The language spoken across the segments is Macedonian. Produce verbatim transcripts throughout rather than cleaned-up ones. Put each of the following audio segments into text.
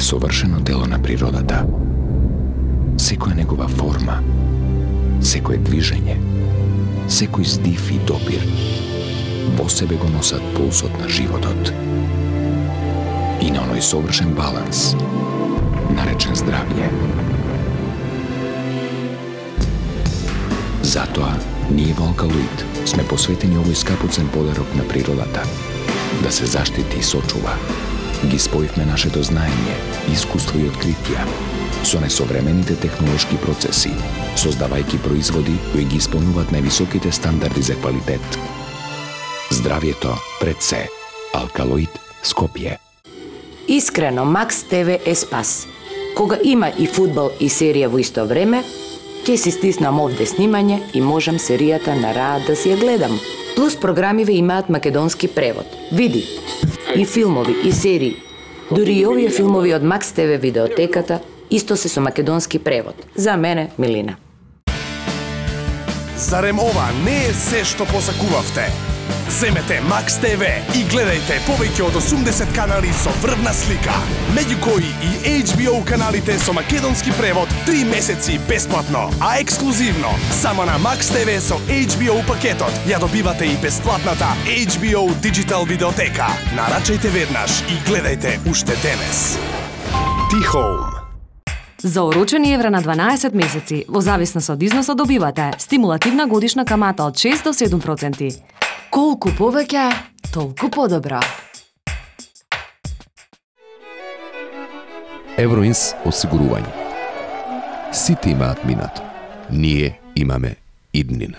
совршено дело на природата. Секоја негова форма, секое движење, секој здив и допир во себе го носат пулсот на животот. И на оној совршен баланс, наречен здравје. Затоа, ние во Алкалоид сме посветени овој скапоцен подарок на природата, да се заштити и сочува. Ги споивме нашето знаење, искуство и откритија со несовремените технолошки процеси, создавајќи производи кои ги исполнуваат највисоките стандарди за квалитет. Здравјето пред се. Алкалоид Скопје. Искрено, Макс ТВ е спас. Кога има и фудбал и серија во исто време, ќе си стиснам овде снимање и можам серијата на раат да си ја гледам. Плюс програмиве имаат македонски превод. Види, и филмови, и серии. Дури и овие филмови од Макс ТВ видеотеката исто се со македонски превод. За мене, Милина. Зарем ова не е се што посакувавте? Земете Макс ТВ и гледајте повеќе од осумдесет канали со врвна слика, меѓу кои и Ейч Би О каналите со македонски превод три месеци бесплатно, а ексклузивно само на Макс ТВ со Ейч Би О пакетот ја добивате и бесплатната Ейч Би О Digital видеотека. Нарачајте веднаш и гледајте уште денес. T-Home. За орочени евра на дванаесет месеци, во зависност од износот добивате стимулативна годишна камата од шест до седум проценти. Колку повеќе, толку подобро. Евроинс осигурување. Сите имаат минато. Ние имаме иднина.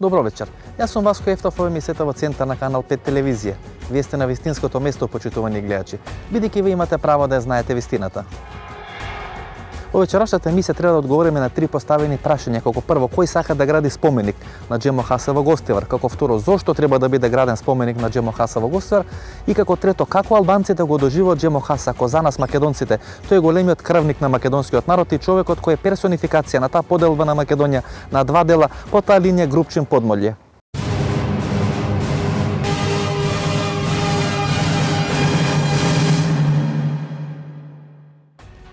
Добро вечер. Јас сум Васко Ефтов, ова емисијата во центар на Канал пет телевизија. Вие сте на вистинското место, почитувани гледачи, бидејќи вие имате право да ја знаете вистината. Во вечерашната емисија треба да одговориме на три поставени прашања, како прво, кој сака да гради споменик на Джемо Хаса во Гостивар, како второ, зошто треба да биде граден споменик на Джемо Хаса во Гостивар и како трето, како албанците го доживуваат Джемо Хаса, ако за нас македонците, тој е големиот крвник на македонскиот народ и човекот кој е персонификација на таа поделба на Македонија на два дела по таа линија Групчин Подмолје.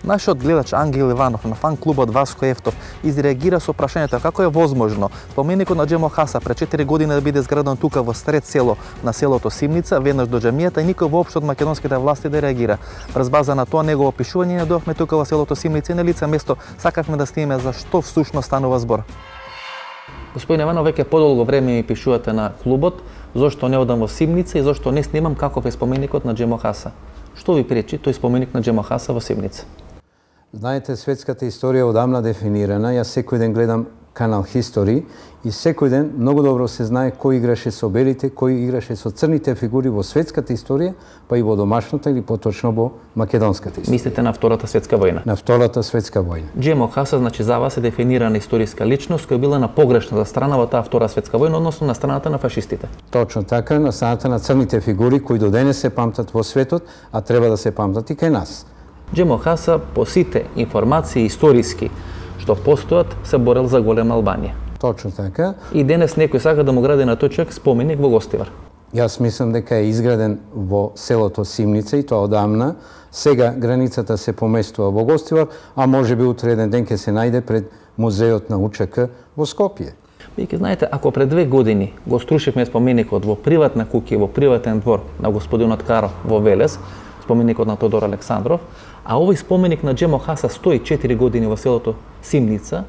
Нашиот гледач Ангел Иванов на фан клубот Васко Ефтов изреагира со прашањето како е возможно споменикот на Джемо Хаса пред четири години да биде изграден тука во сред село на селото Симница, веднаш до џамијата и никој воопшто од македонските власти да реагира. Врз база на тоа негово опишување не дојавме тука во селото Симница и на лице место сакавме да снимеме за што всушност станува збор. Господин Иванов, веќе подолго време ми пишувате на клубот зошто не одам во Симница и зошто не снимам каков е споменикот на Джемо Хаса. Што ви пречи тој споменик на Джемо Хаса во Симница? Знаете, светската историја одамна дефинирана. Јас секој ден гледам канал History и секој ден многу добро се знае кој играше со белите, кој играше со црните фигури во светската историја, па и во домашната или поточно во македонската историја. Мислите на Втората светска војна? На Втората светска војна. Джемо Хаса, значи за вас е дефинирана историска личност која била на погрешната страна во таа Втора светска војна, односно на страната на фашистите. Точно така, на страната на црните фигури кои до денес се памтат во светот, а треба да се памтат и кај нас. Джемо Хаса по сите информации историски што постојат се борел за голема Албанија. Точно така. И денес некој сака да му гради на тој човек споменик во Гостивар. Јас мислам дека е изграден во селото Симница и тоа одамна. Сега границата се поместува во Гостивар, а може би утре еден ден ќе се најде пред музеот на УЧК во Скопје. Бидејќи знаете, ако пред две години го струшивме споменикот во приватна куќа, во приватен двор на господинот Каро во Велес, споменикот на Тодор Александров, а овој споменик на Джемо Хаса стои четири години во селото Симница,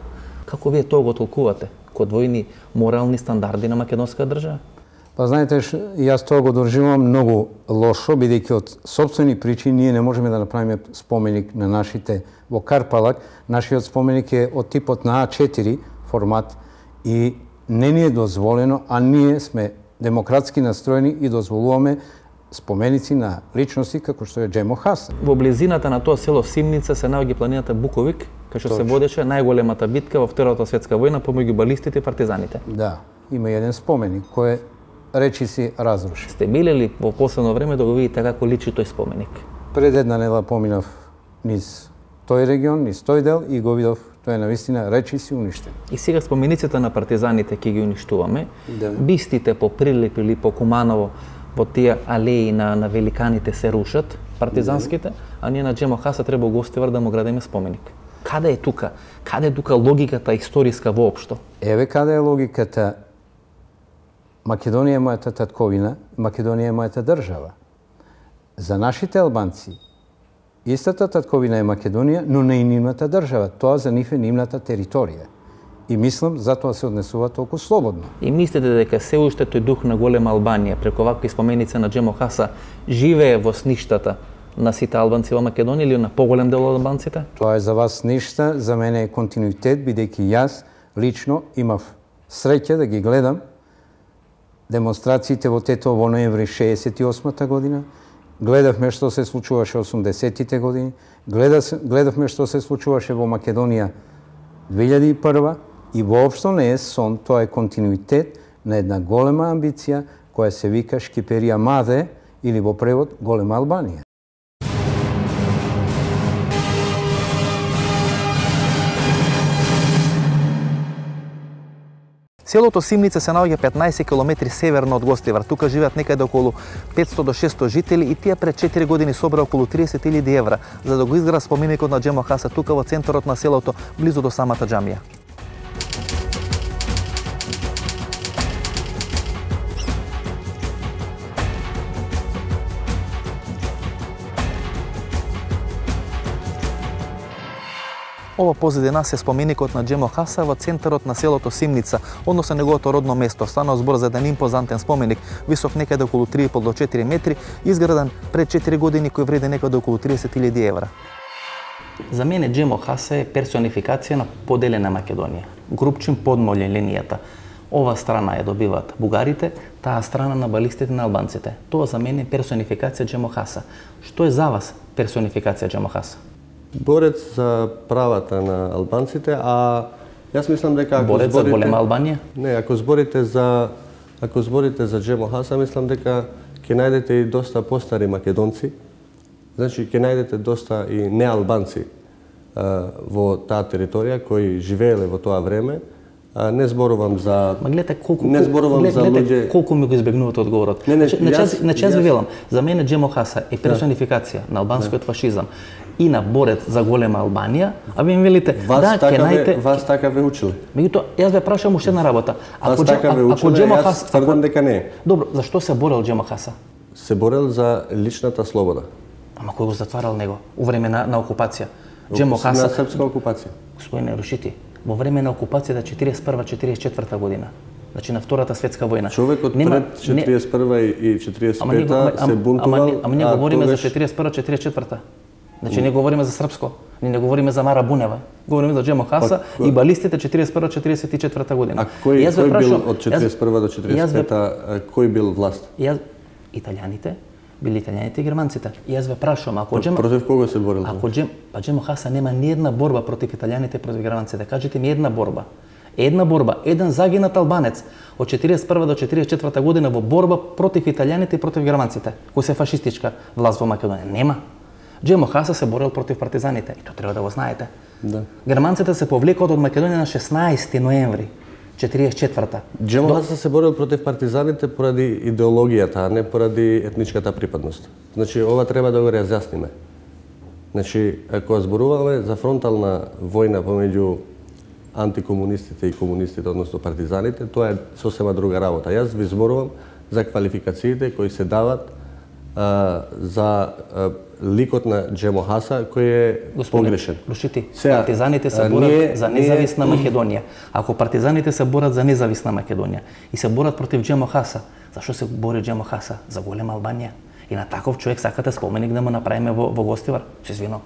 како вие тоа го толкувате? Ко двојни морални стандарди на македонска држава? Па знаете, јас тоа го доживувам многу лошо, бидејќи од сопствени причини ние не можеме да направиме споменик на нашите во Карпалак. Нашиот споменик е од типот на А четири формат и не ни е дозволено, а ние сме демократски настроени и дозволуваме споменици на личности како што е Джемо Хаса. Во близината на тоа село Симница се наоѓа планината Буковик, кај што се водеше најголемата битка во Втората светска војна помеѓу балистите и партизаните. Да, има еден споменик кој речи си разруши. Сте били ли во последно време да го видите како личи тој споменик? Пред една недела поминав низ тој регион, низ тој дел и го видов Тоа е навистина речиси уништен. И сега спомениците на партизаните ќе ги уништуваме. Да. Бистите по Прилеп или по Куманово во тие алеи на, на великаните се рушат, партизанските, да. А ние на Джемо Хаса треба го Гостивар да му градиме споменик. Каде е тука? Каде е тука логиката историска воопшто? Еве каде е логиката. Македонија е мојата татковина, Македонија е мојата држава. За нашите албанци, истата татковина е Македонија, но не и нивната држава. Тоа за нив е нивната територија. И мислам, затоа се однесува толку слободно. И мислите дека се уште тој дух на голема Албанија, преку вакви споменици на Джемо Хаса, живее во сништата на сите албанци во Македонија или на поголем дел од албанците? Тоа е за вас ништа, за мене е континуитет, бидејќи јас лично имав среќа да ги гледам демонстрациите во Тетово во ноември шеесет и осмата година, гледавме што се случуваше осумдесетите години, гледавме што се случуваше во Македонија две илјади и прва и воопшто не е сон, тоа е континуитет на една голема амбиција која се вика Шкиперија Маде или во превод Голема Албанија. Селото Симница се наоѓа петнаесет километри северно од Гостивар. Тука живеат некаде околу петстотини до шестстотини жители и тие пред четири години собра околу триесет илјади евра за да го изгради споменикот на Джемо Хаса тука во центарот на селото, близу до самата џамија. Ова позади нас е споменикот на Джемо Хаса во центарот на селото Симница, односно неговото родно место. Станува збор за еден импозантен споменик, висок некаде околу три и пол до четири метри, изграден пред четири години, кој вреди некаде околу триесет илјади евра. За мене Джемо Хаса е персонификација на поделена Македонија. Групчин подмоле линијата. Ова страна ја добиваат бугарите, таа страна на балистите на албанците. Тоа за мене е персонификација Джемо Хаса. Што е за вас персонификација Джемо Хаса? Борец за правата на албанците, а јас мислам дека ако борец зборите... за голема Албанија? Не, ако зборите за ако зборите за Джемо Хаса, мислам дека ќе најдете и доста постари македонци. Значи ќе најдете доста и неалбанци а, во таа територија кои живееле во тоа време. А, не зборувам за Ма гледате колку не зборувам глед, за гледате луѓе колку ми го избегнувате одговорот. Не, не, значи, значи јас ви велам, за мене Джемо Хаса е персонификација да. на албанскиот фашизам и на борец за голема Албанија, а ви ми велите, вас да, така ќе најдете... Вас така ве училе. Меѓутоа, јас ве прашам уште една работа. Ако вас така ве училе, Джемо јас Хаса, тврдам дека не. Добро, зашто се борел Джемо Хаса? Се борел за личната слобода. Ама кој го затварал него? У време на, на окупација. Джемо Хаса... На српска окупација. Господине Рушити, во време на окупацијата четириесет и прва четириесет и четврта година. Значи на Втората светска војна. Човекот Нема, пред четириесет и прва и четириесет и пета се бунтувал. Ама, ама ние говориме тогаш... за четириесет и прва четириесет и четврта. Значи не говориме за српско, ние не говориме за Мара Бунева. Говориме за Джемо Хаса па, и балистите четириесет и прва четириесет и четврта година. А кој, кој бил од четириесет и прва до четириесет и пета, кој бил власт? Јас, италијаните, били италијаните и германците. И јас ве прашувам, ако Джемо... Против кого се борил? Ако Джем... Па Джемо Хаса нема ни една борба против италијаните и против германците. Кажете ми една борба. Една борба, еден загинат албанец од четириесет и прва до четириесет и четврта година во борба против италијаните и против германците, кој се фашистичка власт во Македонија. Нема. Джемо Хаса се борел против партизаните, и тоа треба да го знаете. Да. Германците се повлекоат од Македонија на шеснаесети ноември четириесет и четврта. Джемо До... Хаса се борел против партизаните поради идеологијата, а не поради етничката припадност. Значи, ова треба да го разјасниме. Значи, ако зборуваме за фронтална војна помеѓу антикомунистите и комунистите, односно партизаните, тоа е сосема друга работа. Јас ви зборувам за квалификациите кои се дават а, за а, ликот на Джемо Хаса, кој е Господин, погрешен. Рушити, Сега, партизаните се борат ние, за независна ние... Македонија. Ако партизаните се борат за независна Македонија и се борат против Джемо Хаса, зашто се бори Джемо Хаса? За голема Албанија. И на таков човек сакате споменик да му направиме во, во Гостивар? Се извинувам.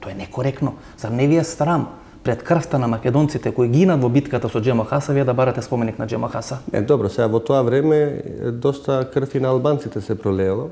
Тоа е некоректно. Зар не ви е срам пред крвта на македонците кои гинат во битката со Джемо Хаса, вие да барате споменик на Джемо Хаса? Е, добро, сега во тоа време доста крв и на албанците се пролеело.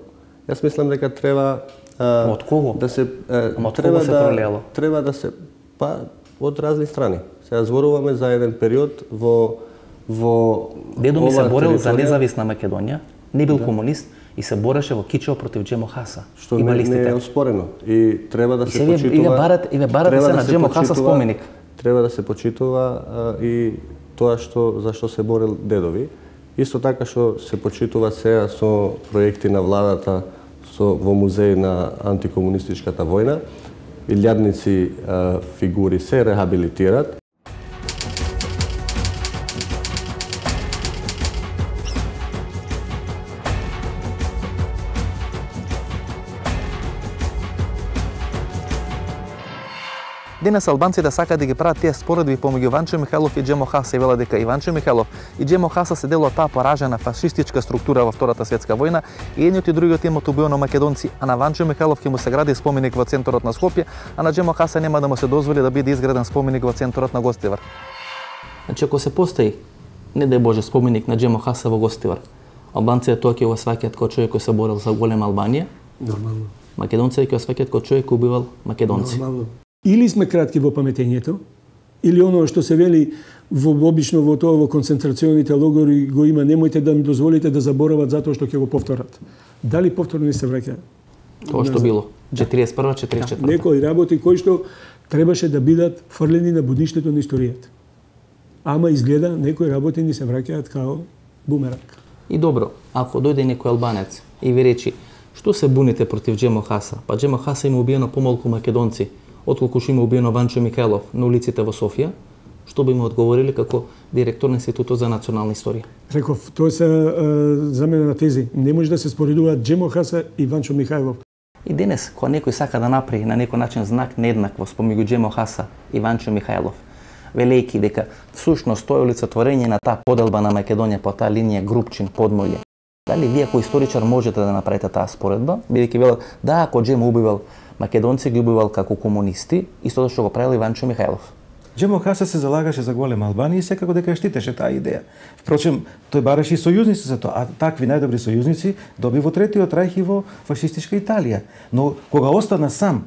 Јас мислам дека треба а, од кого? Да се а, од треба кого се да пролеело? Треба да се па од разни страни. Сега зборуваме за еден период во во Дедо ми се борел територија... за независна Македонија, не бил да. комунист и се бореше во Кичево против Джемо Хаса. Што не, не е оспорено и треба да се и почитува. И ве барате, и ве барате се да на Джемо Хаса споменик. треба да се почитува и тоа што за што се борел дедови. Исто така што се почитува сега со проекти на владата со во музеј на антикомунистичката војна, илјадници фигури се рехабилитират. Денес албанците сакаат да ги прават тие споредби помеѓу Ванчо Михајлов и Џемо Хаса и велат дека и Ванчо Михајлов и Џемо Хаса се дел од таа поражена фашистичка структура во Втората светска војна и едниот и другиот имаат убиено македонци, а на Ванчо Михајлов ќе му се гради споменик во центарот на Скопје, а на Џемо Хаса нема да му се дозволи да биде изграден споменик во центарот на Гостивар. Значи ако се постои, не дај Боже, споменик на Џемо Хаса во Гостивар, албанците тоа ќе го сваќаат како човек кој се борел за голема Албанија. Нормално. Македонците ќе го сваќаат како човек кој убивал македонци. Нормално. Или сме кратки во паметењето, или оно што се вели во обично во тоа во концентрационите логори го има, немојте да ми дозволите да заборават затоа што ќе го повторат. Дали повторно не се враќа? Тоа што било четириесет и прва четириесет и четврта. Некои работи кои што требаше да бидат фрлени на будништето на историјата. Ама изгледа некои работи ни се враќаат као бумеранг. И добро, ако дојде некој албанец и ви речи што се буните против Џемо Хаса, па Џемо Хаса има убиено помалку македонци отколку што има убиено Ванчо Михајлов на улиците во Софија, што би му одговориле како директор на Институтот за национална историја? Реков, тоа се заменена тези. Не може да се споредуваат Џемо Хаса и Ванчо Михајлов. И денес, кога некој сака да направи на некој начин знак нееднаквост помеѓу Џемо Хаса и Ванчо Михајлов, велејќи дека всушност тоа е олицетворење на таа поделба на Македонија по таа линија Групчин Подмолје. Дали вие како историчар можете да направите таа споредба, бидејќи велат да, ако Џемо убивал македонци, ги убивал како комунисти, истото што го правил и Ванчо Михајлов. Џемо Хаса се залагаше за голема Албанија и секако дека штитеше таа идеја. Впрочем, тој бараше и сојузници за тоа, а такви најдобри сојузници доби во Третиот рајх и во фашистичка Италија. Но кога остана сам,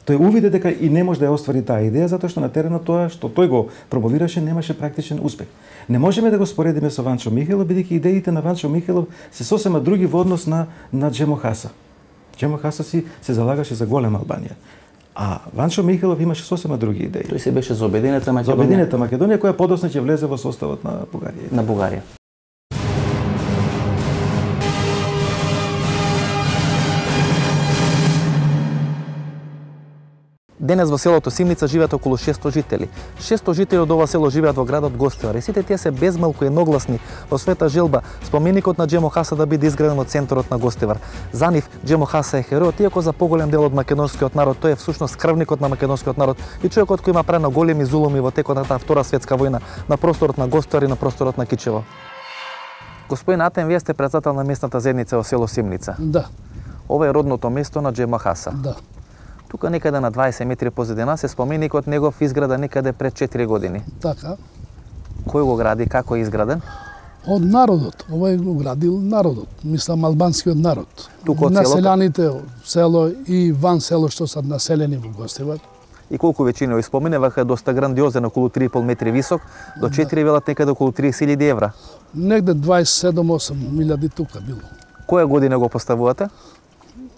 тој увиде дека и не може да ја оствари таа идеја затоа што на теренот тоа што тој го промовираше немаше практичен успех. Не можеме да го споредиме со Ванчо Михајлов, бидејќи идеите на Ванчо Михајлов се сосема други во однос на на Џемо Хаса. Џемо Хаса си се залагаше за голема Албанија. А Ванчо Михајлов имаше сосема други идеи. Тој се беше за обединета Македонија. За обединета Македонија која подоцна ќе влезе во составот на Бугарија. На Бугарија. Денес во селото Симница живеат околу шесто жители. шесто жители од ова село живеат во градот Гостивар и сите тие се безмалку едногласни во својата желба споменикот на Џемо Хаса да биде изграден во центарот на Гостивар. За нив Џемо Хаса е херојот, иако за поголем дел од македонскиот народ тој е всушност крвникот на македонскиот народ и човекот кој има прено големи зулуми во текот на таа Втора светска војна на просторот на Гостивар и на просторот на Кичево. Господин Атем, вие сте председател на местната заедница во село Симница. Да. Ова е родното место на Џемо Хаса. Да. Тука некаде на дваесет метри позади нас е споменикот негов изграда некаде пред четири години. Така. Кој го гради, како е изграден? Од народот. Ова е го градил народот. Мислам, албанскиот народ. Тука од селото? Населаните од село и ван село што се населени во Гостивар. И колку веќина го споменуваха, доста грандиозен, околу три и пол метри висок, до четири велат некаде околу триесет илјади евра. Негде дваесет и седум до осем илјади тука било. Која година го поставувате?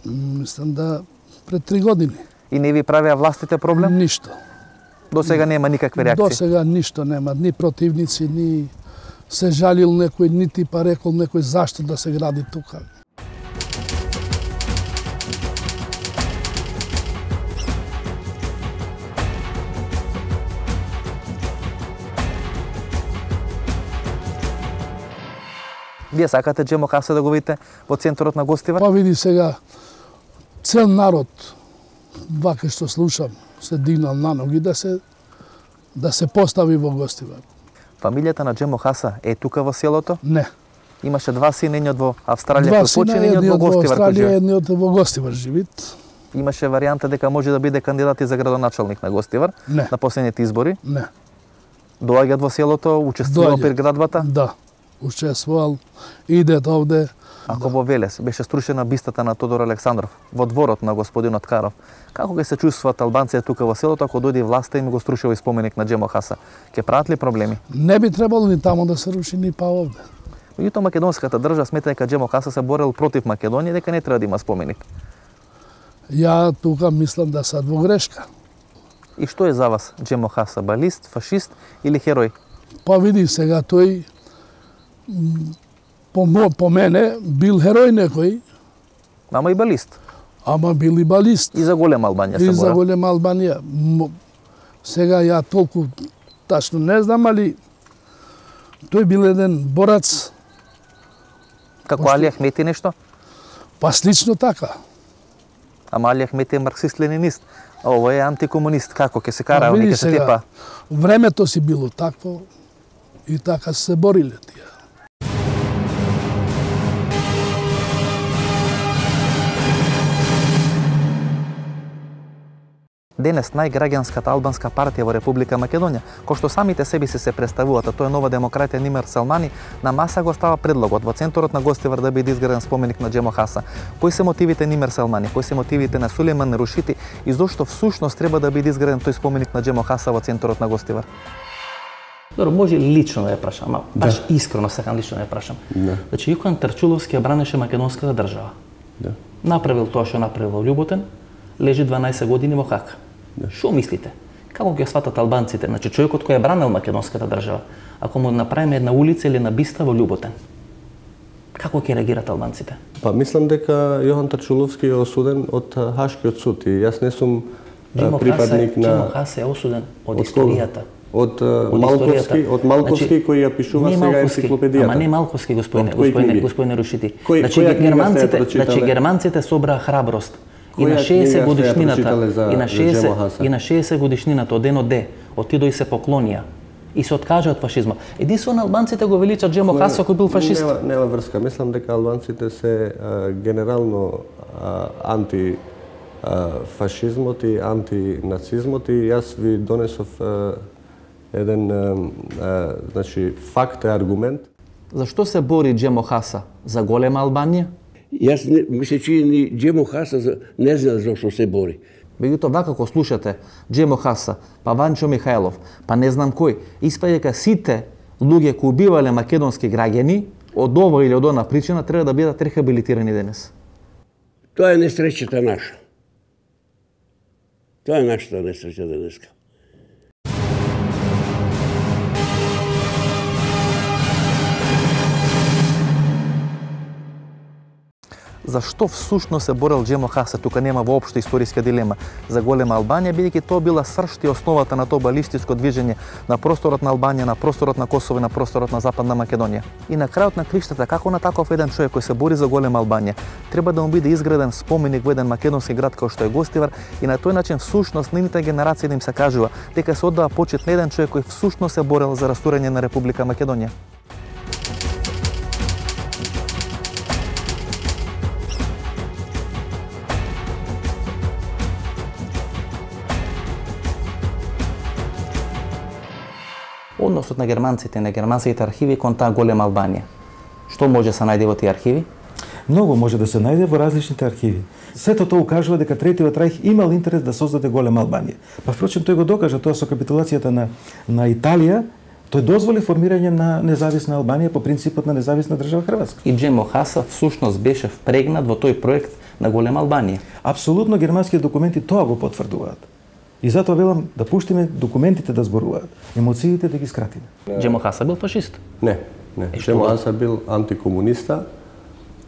Мислам да пред три години. И не ви правеа властите проблем? Ништо. До сега нема никакви реакции? До сега ништо нема, ни противници, ни се жалил некој, нити па рекол некој зашто да се гради тука. Вие сакате Џемо Хаса да го видите во центарот на Гостивар? Па види сега, цел народ, вака што слушам, се дигнал на ноги да се да се постави во Гостивар. Фамилијата на Џемо Хаса е тука во селото? Не. Имаше два сина, едниот во Австралија кој почина, едниот во Гостивар кој живее. Едниот во Гостивар живит. Имаше варијанта дека може да биде кандидат и за градоначалник на Гостивар не. На последните избори? Не. Доаѓаат во селото, учествувал при градбата? Да. Учествувал, идет овде. Ако во Велес беше струшена бистата на Тодор Александров во дворот на господинот Каров, како ќе се чувствуваат албанците тука во селото ако дојде власта и ми го струшува споменик на Џемо Хаса? Ќе прават ли проблеми? Не би требало ни таму да се руши, ни па овде. Меѓутоа македонската држава смета дека Џемо Хаса се борел против Македонија, дека не треба да има споменик. Ја тука мислам да сад во грешка. И што е за вас Джемо Хаса, балист, фашист или херој? Па види сега тој по, по мене бил херој некој. Ама и балист. Ама бил и балист. И за голема Албанија се бора. И за голема Албанија. Сега ја толку тачно не знам, али тој бил еден борац. Како Али Ахмети нешто? Па слично така. Ама Али Ахмети е марксист-ленинист, а ово е антикомунист. Како ќе се кара, они ќе се тепа? Времето си било такво и така се бориле тие. Денес најграѓанската албанска партија во Република Македонија, кој што самите себе си се представуваат, а тоа е Нова демократија Нимер Селмани, на маса го става предлогот во центарот на Гостивар да биде изграден споменик на Джемо Хаса. Кои се мотивите Нимер Селмани, кои се мотивите на Сулейман Рушити и зошто всушност треба да биде изграден тој споменик на Джемо Хаса во центарот на Гостивар? Добро, може лично да ја прашам, ама баш да. Искрено сакам лично да ја прашам. Да. Значи, Јукан Тарчуловски ја бранеше македонската држава. Да. Направил тоа што направил во Љуботен, лежи дванаесет години во Хаг. Што да. Мислите? Како ќе сватат албанците? Значи, човекот кој е бранил македонската држава, ако му направиме една улица или една биста во Љуботен, како ќе реагират албанците? Па мислам дека Јохан Тарчуловски е осуден од Хашкиот суд и јас не сум Джемо припадник на Джемо Хаса е осуден од историјата. Од, од Малковски, од Малковски значи, кој ја пишува сега енциклопедијата. Ама не Малковски, господине, господине, господине Рушити. Кој, значи германците, значи германците собраа храброст. И на шеесет годишнината, и на шеесет и на шеесет годишнината од денот Д, отидоа и се поклонија и се откажа од фашизмот. Единствено албанците го величат Джемо Хаса кој бил фашист. Нема, нема врска. Мислам дека албанците се а, генерално а, анти а, фашизмот и антинацизмот и јас ви донесов а, еден а, а, значи факт и аргумент. Зашто се бори Джемо Хаса? За голема Албанија? Јас не, ми се чини ни Джемо Хаса не знам зашто се бори. Меѓутоа, вака кога слушате Джемо Хаса, па Ванчо Михајлов, па не знам кој, испаѓа дека сите луѓе кои убивале македонски граѓани, од ова или од она причина, треба да бидат рехабилитирани денес. Тоа е несреќата наша. Тоа е нашата несреќа денеска. Зашто всушност се борел Джемо Хаса? Тука нема воопшто историска дилема за голема Албанија, бидејќи тоа била сршта и основата на тоа балистичко движење на просторот на Албанија, на просторот на Косово и на просторот на Западна Македонија. И на крајот на криштата, како на таков еден човек кој се бори за голема Албанија, треба да му биде изграден споменик во еден македонски град кој што е Гостивар и на тој начин всушност нивните генерации да им се кажува дека се оддава почит на еден човек кој всушност се борел за растурање на Република Македонија. Односот на германците и на германските архиви кон таа голема Албанија. Што може да се најде во тие архиви? Многу може да се најде во различните архиви. Сето тоа укажува дека Третиот рајх имал интерес да создаде голема Албанија. Па впрочем тој го докажа тоа со капитулацијата на на Италија. Тој дозволи формирање на независна Албанија по принципот на независна држава Хрватска. И Джемо Хаса всушност беше впрегнат во тој проект на голема Албанија. Апсолутно германските документи тоа го потврдуваат. И затоа велам да пуштиме документите да зборуваат, емоциите да ги скратиме. Джемо Хаса бил фашист? Не, не. Джемо Хаса бил антикомуниста.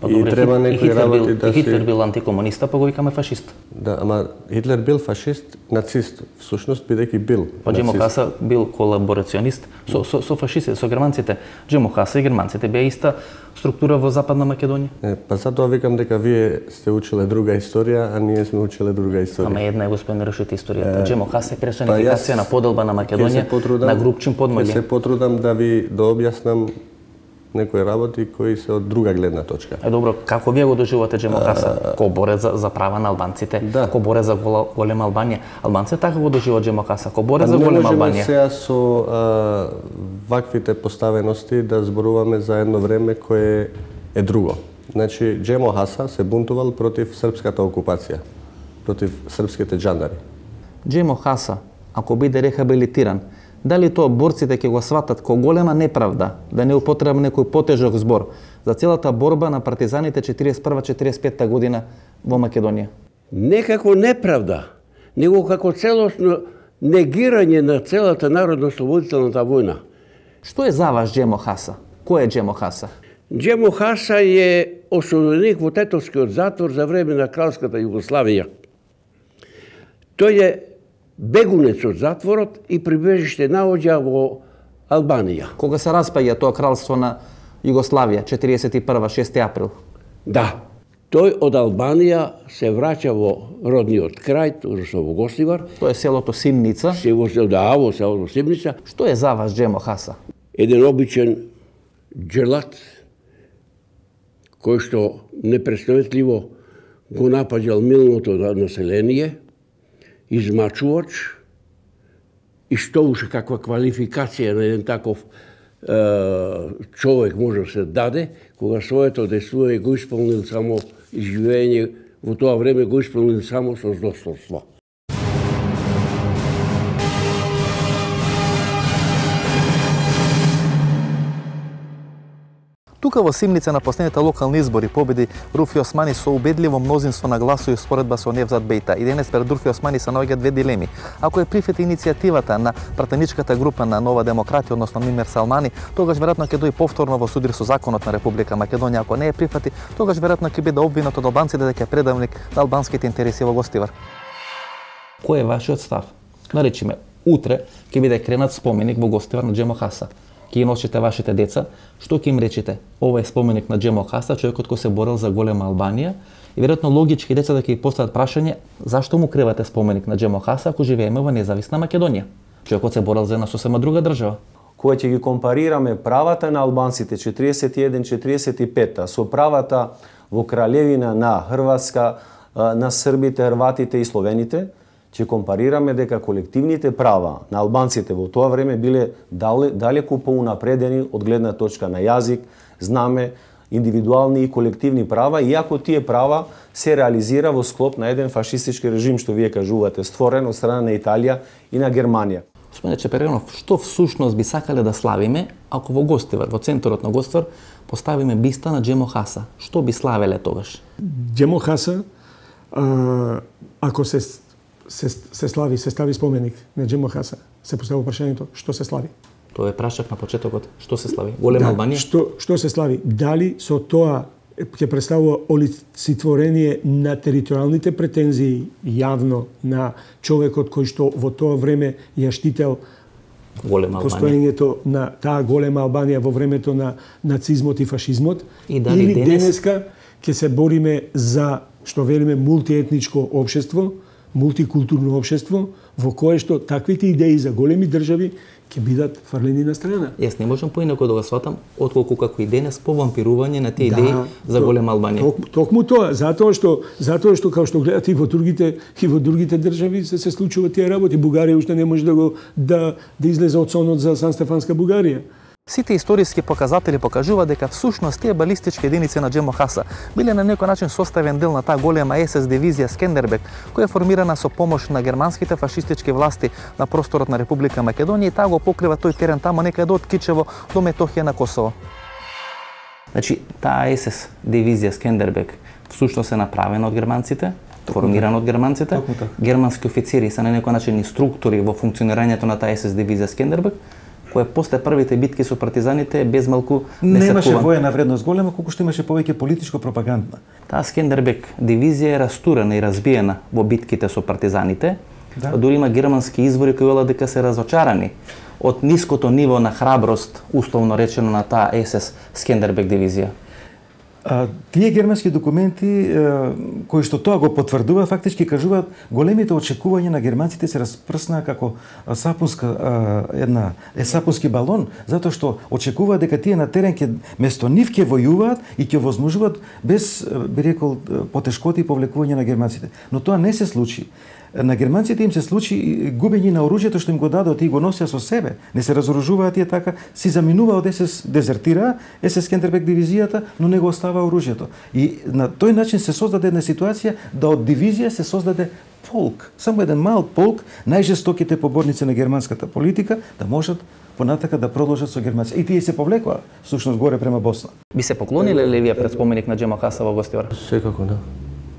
И треба некои работи да се... Хитлер бил антикомуниста, па го викаме фашист. Да, ама Хитлер бил фашист, нацист, всушност бидејќи бил. Па Джемо Хаса бил колаборационист со, со, со фашистите, со германците. Джемо Хаса и германците беа иста структура во Западна Македонија. Не, па затоа викам дека вие сте учеле друга историја, а ние сме учеле друга историја. Ама една е господин Рушити историјата. Е... Джемо Хаса е персонификација па, на поделба на Македонија, потрудам, на групчин подмоље. Се потрудам да ви да објаснам некои работи кои се од друга гледна точка. Е добро, како вие го доживувате Джемо Хаса? Ко борец за, за права на албанците, да. Ко борец за гола, голема Албанија. Албанците така го доживуваат Джемо Хаса, ко борец за голема Албанија. Не можеме сега со а, ваквите поставености да зборуваме за едно време кое е друго. Значи, Джемо Хаса се бунтувал против српската окупација, против српските джандари. Джемо Хаса, ако биде рехабилитиран, дали тоа борците ќе го сватат ко голема неправда, да не употребам некој потежок збор, за целата борба на партизаните четириесет и прва четириесет и петта година во Македонија? Не како неправда, него како целосно негирање на целата народно-ослободителната војна. Што е за вас Джемо Хаса? Кој е Джемо Хаса? Джемо Хаса е осуденик во Тетовскиот затвор за време на кралската Југославија. Тој е бегунец од затворот и прибежиште наоѓа во Албанија. Кога се распаѓа тоа кралство на Југославија, четириесет и прва, шести април? Да. Тој од Албанија се враќа во родниот крај, односно во Гостивар. Тоа е селото Симница. Село, да, во селото Симница. Што е за вас Джемо Хаса? Еден обичен джелат, кој што непреставетливо го напаѓал милното население, измачувач, и што уште каква квалификација на еден таков е, човек може да се даде, кога своето действување го исполнил само живење во тоа време го исполнил само со достоинство. Тука во Симница на последните локални избори победи Руфи Османи со убедливо мнозинство на гласови споредба со Невзат Бејта. И денес пред Руфи Османи се наоѓаат две дилеми. Ако е прифати иницијативата на пратеничката група на Нова демократија, односно Мимер Салмани, тогаш веројатно ќе дојде повторно во судир со законот на Република Македонија. Ако не е прифати, тогаш веројатно ќе биде обвинет од албанците дека е предавник на албанските интереси во Гостивар. Кој е вашиот став? Наречиме, утре ќе биде кренат споменик во Гостивар на Джемо Хаса. Ќе ги носите вашите деца, што ќе им речете? Ова е споменик на Джемо Хаса, човекот кој се борел за голема Албанија, и веројатно логички децата ќе ги постават прашање зашто му кривате споменик на Джемо Хаса ако живееме во независна Македонија? Човекот се борел за една сосема друга држава. Кога ќе ги компарираме правата на албанците четириесет и еден четириесет и пет со правата во Кралевина на Хрватска, на србите, хрватите и словените, ќе компарираме дека колективните права на албанците во тоа време биле далеку поунапредени од гледна точка на јазик, знаме, индивидуални и колективни права, иако тие права се реализира во склоп на еден фашистички режим, што вие кажувате, створен од страна на Италија и на Германија. Господине Чеперенов, што всушност би сакале да славиме ако во Гостивар, во центарот на Гостивар, поставиме биста на Джемо Хаса? Што би славеле тогаш? Джемо Хаса, а, ако се Се, се слави, се стави споменик на Джемо Хаса, се поставува прашањето што се слави. Тоа е прашак на почетокот. Што се слави? Голема да, Албанија? Што, што се слави? Дали со тоа ќе представува олицетворение на територијалните претензии јавно на човекот кој што во тоа време ја штител голема Албанија, постоењето на таа голема Албанија во времето на нацизмот и фашизмот, и дали или денес... денеска ќе се бориме за, што велиме, мултиетничко општество, мултикултурно општество, во кое што таквите идеи за големи држави ќе бидат фрлени на страна. Јас не можам поинако да го сватам, отколку како и денес повампирување на тие идеи да, за голема Албанија. Ток, токму тоа, затоа што затоа што како што гледате и во другите и во другите држави се се случуваат тие работи. Бугарија уште не може да го да да излезе од сонот за Сан Стефанска Бугарија. Сите историски показатели покажуваат дека всушност тие балистички единици на Джемо Хаса биле на некој начин составен дел на таа голема ес ес дивизија Скендербек, која е формирана со помош на германските фашистички власти на просторот на Република Македонија, и таа го покрива тој терен тамо некаде од Кичево до Метохија на Косово. Значи, таа ес ес дивизија Скендербек всушност е направена од германците, формирана од германците. Германски официри се на некој начин инструктори во функционирањето на таа ес ес дивизија Скендербек, која после првите битки со партизаните без малку не имаше воена вредност голема, колку што имаше повеќе политичко пропагандна. Таа Скендербек дивизија е растурена и разбиена во битките со партизаните. Да. Дури има германски извори кои велат дека се разочарани од ниското ниво на храброст, условно речено, на таа ес ес Скендербек дивизија. А, тие германски документи а, кои што тоа го потврдува, фактички кажуваат големите очекувања на германците се распрснаа како сапунска а, една е сапунски балон, затоа што очекуваат дека тие на терен ќе место нив ќе војуваат и ќе возможуваат без, би рекол, потешкоти и повлекување на германците. Но тоа не се случи. На германците им се случи губење на оружјето што им го дадот и го носеа со себе. Не се разоружуваа тие така, си заминуваа од ес ес, дезертираа ес ес Скендербек дивизијата, но не го оставаа оружјето. И на тој начин се создаде една ситуација да од дивизија се создаде полк, само еден мал полк, најжестоките поборници на германската политика, да можат понатака да продолжат со германците. И тие се повлекоа, всушност горе према Босна. Би се поклониле ли вие пред споменик на Джемо Хаса во Гостивар? Секако, да.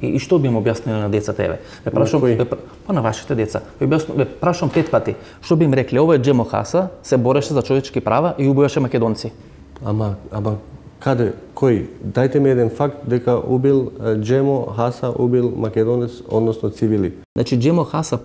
И, и што би им објасниле на децата еве? Ве прашам, ве, па на вашите деца. Ве, објаснам, ве прашам пет пати. Што би им рекле? Ова е Джемо Хаса, се бореше за човечки права и убиваше македонци. Ама, ама каде, кој? Дајте ми еден факт дека убил Джемо Хаса, убил македонец, односно цивили. Значи Джемо Хаса,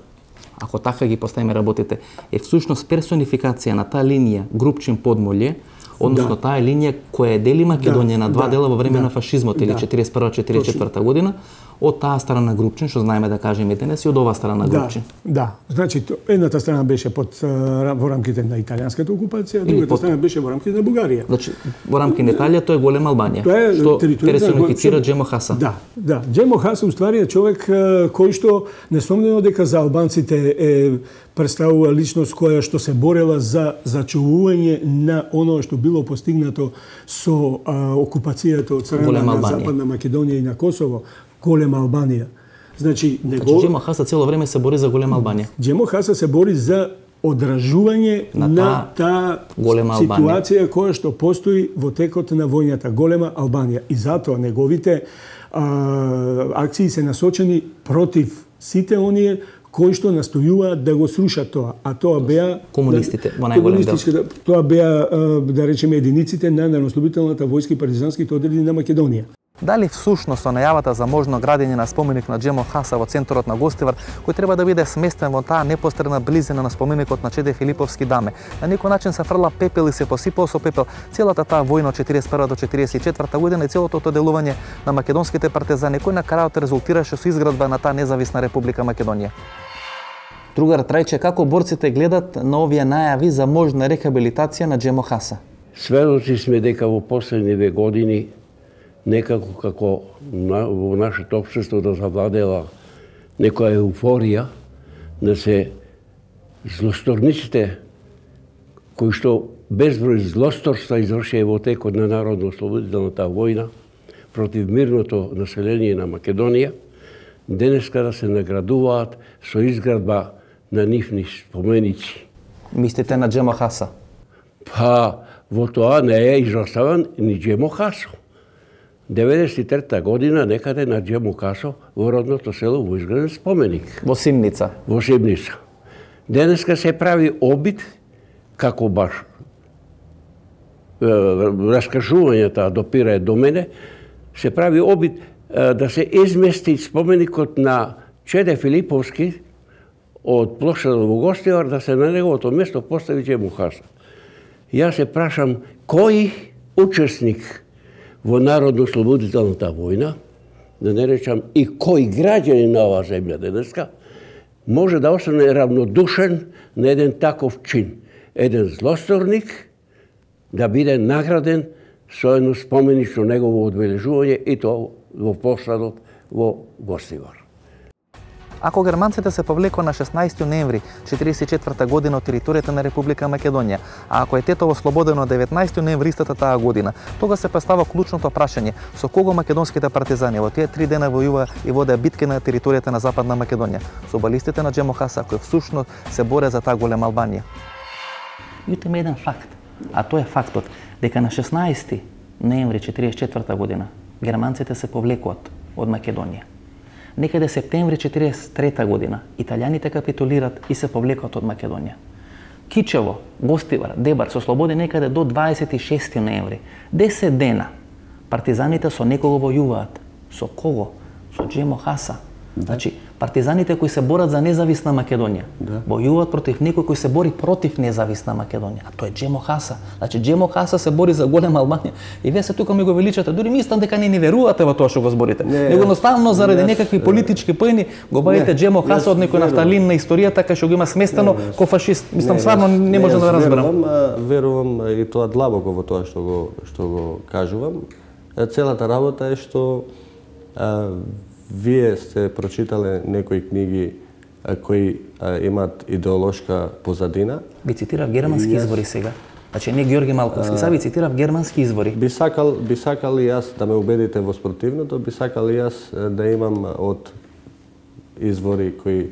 ако така ги поставиме работите, е всушност персонификација на таа линија Групчин Подмолје, односно да. Таа линија која дели Македонија да, на два да, дела во време да, на фашизмот или да. четириесет и прва четириесет и четврта година, од таа страна Групчин, што знаеме да кажеме денес, и од оваа страна Групчин. Да, да. Значи едната страна беше под во рамките на италијанската окупација, другата под... страна беше во рамките на Бугарија. Значи во рамки на Италија тоа е голема Албанија. Тоа е што персонифицира Джемо Хаса. Да, да. Джемо Хаса уствари е човек кој што несомнено дека за албанците е представува личност која што се борела за зачувување на оно што било постигнато со а, окупацијата од страна на Западна Македонија и на Косово, голема Албанија. Значи, него... Значи, Джемо Хаса цело време се бори за голема Албанија. Джемо Хаса се бори за одражување на, на таа ситуација која што постои во текот на војната, голема Албанија. И затоа неговите а, акции се насочени против сите оние кои што настојуваат да го срушат тоа, а тоа беа комунистите во најголем дел. Тоа беа да речеме единиците на народнослободителната војска и партизанските одреди на Македонија. Дали всушност со најавата за можно градење на споменик на Джемо Хаса во центарот на Гостивар, кој треба да биде сместен во таа непосредна близина на споменикот на Чеде Филиповски даме, на некој начин се фрла пепел и се посипал со пепел целата таа војна од четириесет и прва до четириесет и четврта година и целото тоа делување на македонските партизани, кој на крајот резултираше со изградба на таа независна Република Македонија. Другар Трајче, како борците гледат на овие најави за можна рехабилитација на Джемо Хаса? Сведоци сме дека во последниве години некако како на, во нашето општество да завладела некоја еуфорија, да се злосторниците кои што безброј злосторства извршија во текот на народно-ослободителната војна против мирното население на Македонија, денеска да се наградуваат со изградба на нивни споменици. Мислите на Джемо Хаса? Па, во тоа не е изоставен ни Джемо Хасо. деветдесет и трета година некаде на Джемо Хасо во родното село во изграден споменик. Во Симница. Во Симница. Денеска се прави обид, како баш раскажувањата допира до мене, се прави обид да се измести споменикот на Чеде Филиповски од плошадот во Гостивар, да се на неговото место постави Джемо Хаса. Јас се прашам, кој учесник во народно-ослободителната војна, да не речам и кој граѓанин на оваа земја денеска, може да остане равнодушен на еден таков чин. Еден злосторник да биде награден со едно споменично негово одбележување и тоа во плошадот во Гостивар. Ако германците се повлекоа на шеснаесети ноември четириесет и четврта година од територијата на Република Македонија, а ако е Тетово слободено деветнаесети ноември истата таа година, тога се поставува клучното прашање со кого македонските партизани во тие три дена војува и водеа битки на територијата на Западна Македонија, со балистите на Джемо Хаса, кои всушност се боре за таа голема Албанија. Јутиме еден факт, а тоа е фактот дека на шеснаесети ноември четириесет и четврта година германците се повлекоат од Македонија. Некаде септември четириесет и трета година италијаните капитулират и се повлекоат од Македонија. Кичево, Гостивар, Дебар се ослободи некаде до дваесет и шести ноември. десет дена партизаните со некого војуваат. Со кого? Со Джемо Хаса. Да. Значи, партизаните кои се борат за независна Македонија, да. Војуваат против некој кој се бори против независна Македонија, а тоа е Джемо Хаса. Значи, Джемо Хаса се бори за голема Албанија. И вие се тука ми го величате, дури мислам дека не ни верувате во тоа што го зборите. Не, Него едноставно заради некакви политички поени го бавите Джемо Хаса од некој нафталин на историјата кај што го има сместено не, ко фашист. Мислам, не, стварно не може да разберам. Верувам, верувам и тоа длабоко во тоа што го што го кажувам. Целата работа е што а, вие сте прочитале некои книги а, кои а, имаат идеолошка позадина. Би цитирав германски извори сега. Значи не Георги Малковски, сега би цитирав германски извори. Би сакал, би сакал и јас да ме убедите во спротивното, би сакал и јас да имам од извори кои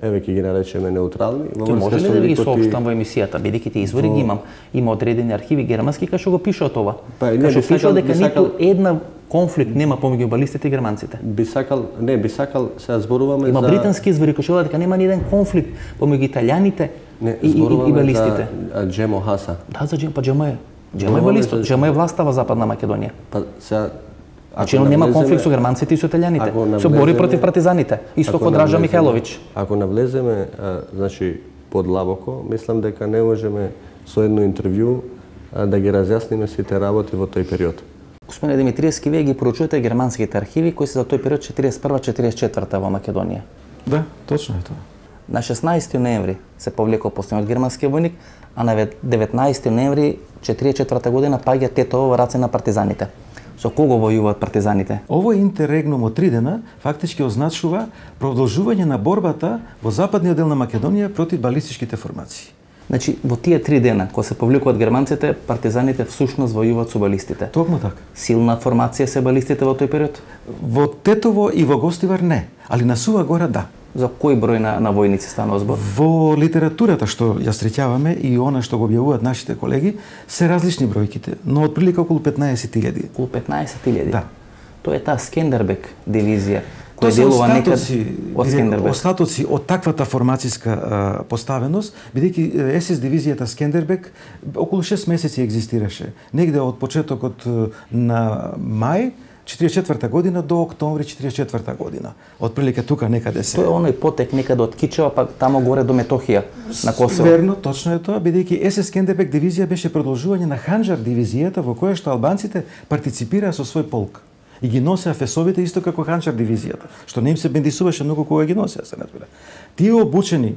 еве ќе ги наречеме неутрални. Тој може ли да ви ги соопштам во емисијата, бидејќи тие извори ги имам, има одредени архиви германски кај што го пишува ова. Па, кај што пишува дека ниту една конфликт нема помеѓу балистите и германците. Би сакал, не, би сакал сега зборуваме има за британски извори кои што дека нема ни еден конфликт помеѓу италијаните не, и, и, и балистите. За Джемо Хаса. Да, за Джемо, па Джемо е. Джемо е балист, Джемо е власта во Западна Македонија. Па сега Значи нема конфликт со германците и со италијаните. Се бори против партизаните, исто како Дража Михајловиќ. Ако навлеземе, а, значи подлабоко, мислам дека не можеме со едно интервју а, да ги разјасниме сите работи во тој период. Господине Димитриевски, вие ги поручувате германските архиви кои се за тој период четириесет и прва четириесет и четврта во Македонија. Да, точно е тоа. На шеснаесети ноември се повлекол последниот германски војник, а на деветнаесети ноември четириесет и четврта година паѓа Тетово во раце на партизаните. Со кого војуваат партизаните? Овој интеррегнум од три дена фактички означува продолжување на борбата во западниот дел на Македонија против балистичките формации. Значи, во тие три дена, кога се повлекуваат германците, партизаните всушност војуваат со балистите. Токму така. Силна формација се балистите во тој период? Во Тетово и во Гостивар не, али на Сува гора да. За кој број на, на војници станува збор? Во литературата што ја среќаваме и она што го објавуваат нашите колеги, се различни бројките, но отприлика околу петнаесет илјади. Околу петнаесет илјади? Да. Тоа е таа Скендербек дивизија, која делува некад од Скендербек. Остатоци од таквата формацијска а, поставеност, бидејќи ес ес дивизијата Скендербек околу шест месеци екзистираше. Негде од почетокот на мај четириесет и четврта година до октомври четириесет и четврта година. Отприлика тука некаде се. Тоа е оној потек некаде од Кичева, па тамо горе до Метохија, на Косово. Верно, точно е тоа, бидејќи ес ес Скендербек дивизија беше продолжување на Ханџар дивизијата во која што албанците партиципираа со свој полк. И ги носеа фесовите исто како Ханџар дивизијата, што не им се бендисуваше многу кога ги носеа, се разбира. Тие обучени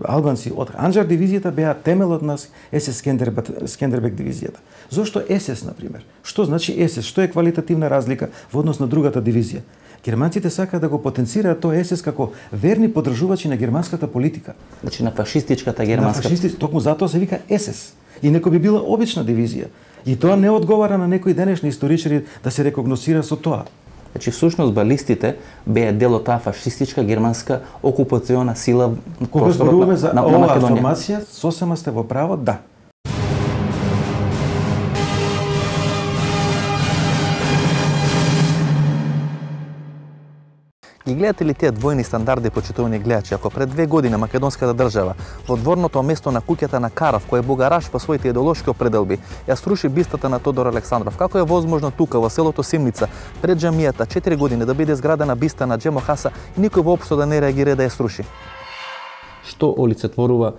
албанци од Ханџар дивизијата беа темелот на ес ес Скендербек дивизијата. Зошто ес ес, например? Што значи ес ес? Што е квалитативна разлика во однос на другата дивизија? Германците сакаат да го потенцираат тоа ес ес како верни поддржувачи на германската политика. Значи на фашистичката германска. На фашисти, токму затоа се вика ес ес. И некој би била обична дивизија. И тоа не одговара на некои денешни историчари да се рекогносира со тоа. Значи, всушност, балистите беа дел од таа фашистичка германска окупациона сила на просторот на, на, на Македонија. Формација, сосема сте во право, да. Ги гледате ли тие двојни стандарди, почитувани гледачи, ако пред две години македонската држава во дворното место на куќата на Каров, кој е бугараш по своите идеолошки определби, ја сруши бистата на Тодор Александров? Како е возможно тука во селото Симница пред џамијата четири години да биде изградена биста на Джемо Хаса и никој воопшто да не реагира да ја сруши? Што олицетворува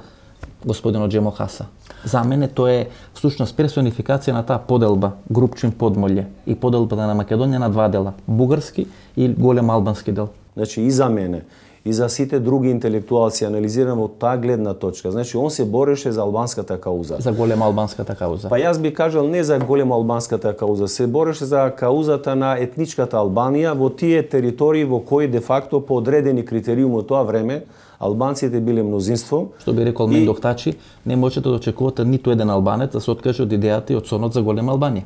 господинот Джемо Хаса? За мене тоа е всушност персонификација на таа поделба, Групчин Подмолје и поделбата на Македонија на два дела, бугарски и голем албански дел. Значи и за мене, и за сите други интелектуалци анализираме од таа гледна точка. Значи он се бореше за албанската кауза. За голема албанската кауза. Па јас би кажал не за голема албанската кауза, се бореше за каузата на етничката Албанија во тие територии во кои де факто по одредени критериуми од тоа време албанците биле мнозинство. Што би рекол и... Мендок Тачи, не можете да очекувате ниту еден албанец да се откаже од идејата и од сонот за голема Албанија.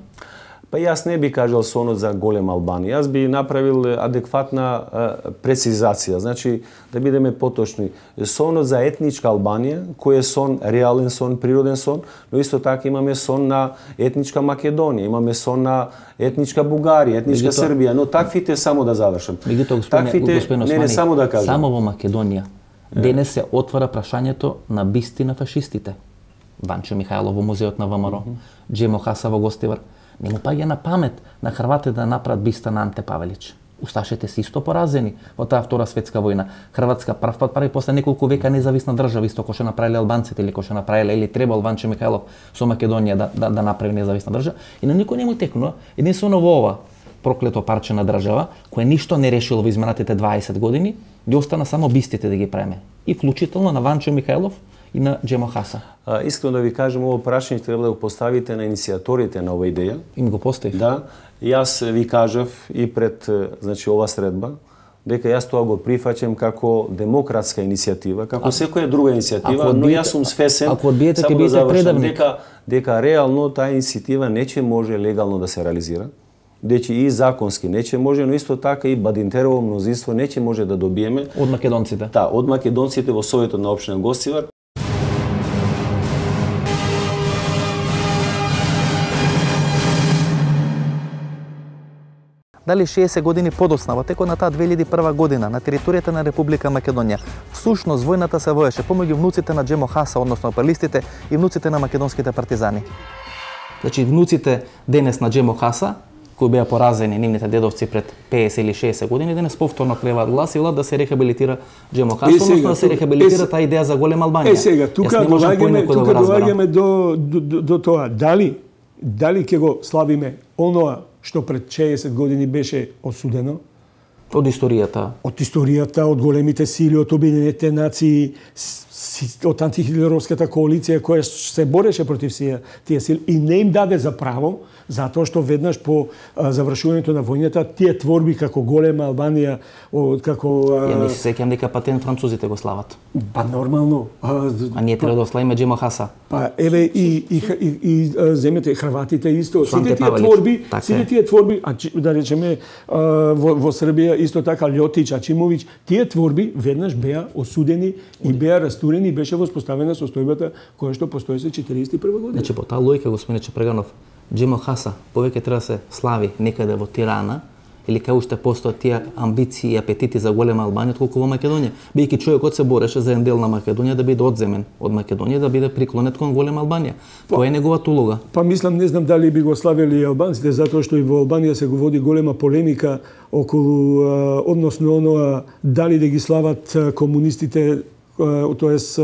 Па јас не би кажал сонот за голема Албанија. Јас би направил адекватна а, прецизација. Значи, да бидеме поточни, сонот за етничка Албанија, кој е сон, реален сон, природен сон, но исто така имаме сон на етничка Македонија, имаме сон на етничка Бугарија, етничка Мегуто... Србија, но таквите, само да завршам. Мегуто, господине, таквите, господине Османи, не, не, само да кажам. Само во Македонија денес се отвара прашањето на бисти на фашистите. Ванчо Михајлов во музеот на ВМРО, mm -hmm. Джемо Хаса во Гостивар. Не му паѓа на памет на Хрватите да направат биста на Анте Павелич. Усташите се исто поразени во таа Втора светска војна. Хрватска прв пат прави после неколку века независна држава, исто кој што направиле албанците или кој што направиле или требал Ванчо Михајлов со Македонија да, да, да направи независна држава. И на никој не му текнува. Единствено во ова проклето парче на држава, кој ништо не решило во изминатите дваесет години, ги остана само бистите да ги преме. И вклучително на Ванчо Михајлов и на Джемо Хаса. А, искрено да ви кажем, ово прашање треба да го поставите на иницијаторите на ова идеја. Им го поставив. Да. Јас ви кажав и пред, значи, ова средба, дека јас тоа го прифаќам како демократска иницијатива, како а, секоја друга иницијатива, но јас сум свесен, ако одбиете, само да завршам, дека, дека реално таа иницијатива не ќе може легално да се реализира. дечи и законски не ќе може, но исто така и Бадинтерово мнозинство не ќе може да добиеме од македонците. Да, од македонците во Советот на општина Гостивар. Дали шеесет години подоцна, во текот на таа две илјади и прва година, на територијата на Република Македонија, всушност војната се воеше помеѓу внуците на Джемо Хаса, односно апелистите, и внуците на македонските партизани. Значи, внуците денес на Джемо Хаса, кои беа поразени нивните дедовци пред пеесет или шеесет години, денес повторно креваат глас и велат да се рехабилитира Джемо Хаса, односно да се рехабилитира таа идеја за голема Албанија. Е, сега, тука доаѓаме тука доаѓаме до, до, до, до тоа. Дали, дали ќе го славиме оноа што пред шеесет години беше осудено? Од историјата. Од историјата, од големите сили, од Обединетите нации, од антихитлеровската коалиција која се бореше против тие сили и не им даде за право, затоа што веднаш по а, завршувањето на војната тие творби како голема Албанија, од како Ја не се сеќам дека патен французите го слават. Па нормално. А, а ние треба да славиме Джемо Хаса. Па еве и и и, и земете Хрватите исто, сите тие творби, сите тие творби, а да речеме во, во Србија исто така Лјотич, Ачимовиќ, тие творби веднаш беа осудени и беа растурени и беше воспоставена состојбата која што постоеше четириесет и прва година. Значи по таа логика, господине Чепреганов, Джемо Хаса повеќе треба да се слави некаде во Тирана или кај уште постојат тие амбиции и апетити за голема Албанија отколку во Македонија, бидејќи човекот се бореше за еден дел на Македонија да биде одземен од Македонија, да биде приклонет кон голема Албанија. Која е неговата улога? Па мислам, не знам дали би го славели албанците, затоа што и во Албанија се го води голема полемика околу односно оноа дали да ги слават комунистите, тоест